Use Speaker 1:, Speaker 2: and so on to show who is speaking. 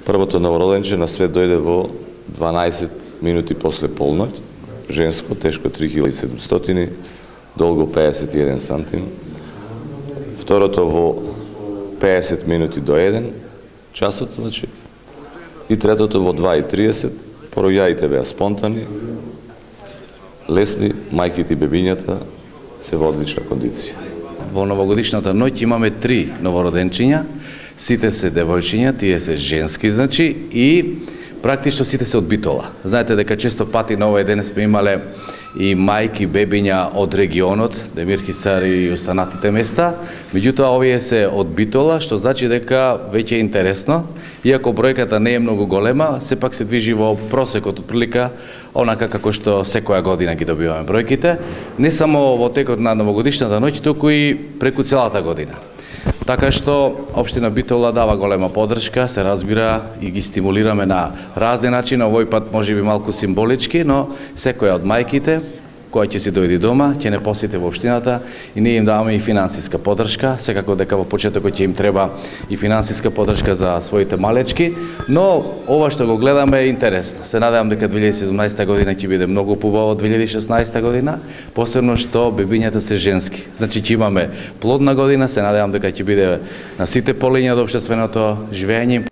Speaker 1: Првото новороденче на свет дојде во 12 минути после полноќ, женско, тешко 3700, долго 51 сантим. Второто во 50 минути до 1 часот, значи. И третото во 2:30, пороѓаите беа спонтани, лесни, мајките и бебињата се во одлична кондиција.
Speaker 2: Во новогодишната ноќ имаме 3 новороденчиња, сите се девојчиња, тие се женски, значи, и практично сите се од Битола. Знаете дека често пати на овој ден сме имале и мајки, бебиња од регионот, Демир Хисар и останатите места, меѓутоа овие се од Битола, што значи дека веќе е интересно, иако бројката не е многу голема, сепак се движи во просекот отприлика онака како што секоја година ги добиваме бројките, не само во текот на новогодишната ноќ, туку и преку целата година. Така што општина Битола дава голема поддршка, се разбира, и ги стимулираме на разни начини, овој пат можеби малку символички, но секоја од мајките која ќе си дојде дома, ќе не посети во општината и ние им даваме и финансиска поддршка, секако дека во почетокот ќе им треба и финансиска поддршка за своите малечки, но ова што го гледаме е интересно. Се надевам дека 2017 година ќе биде многу побава од 2016 година, посебно што бебињата се женски. Значи ќе имаме плодна година, се надевам дека ќе биде на сите полиња од општественото живење.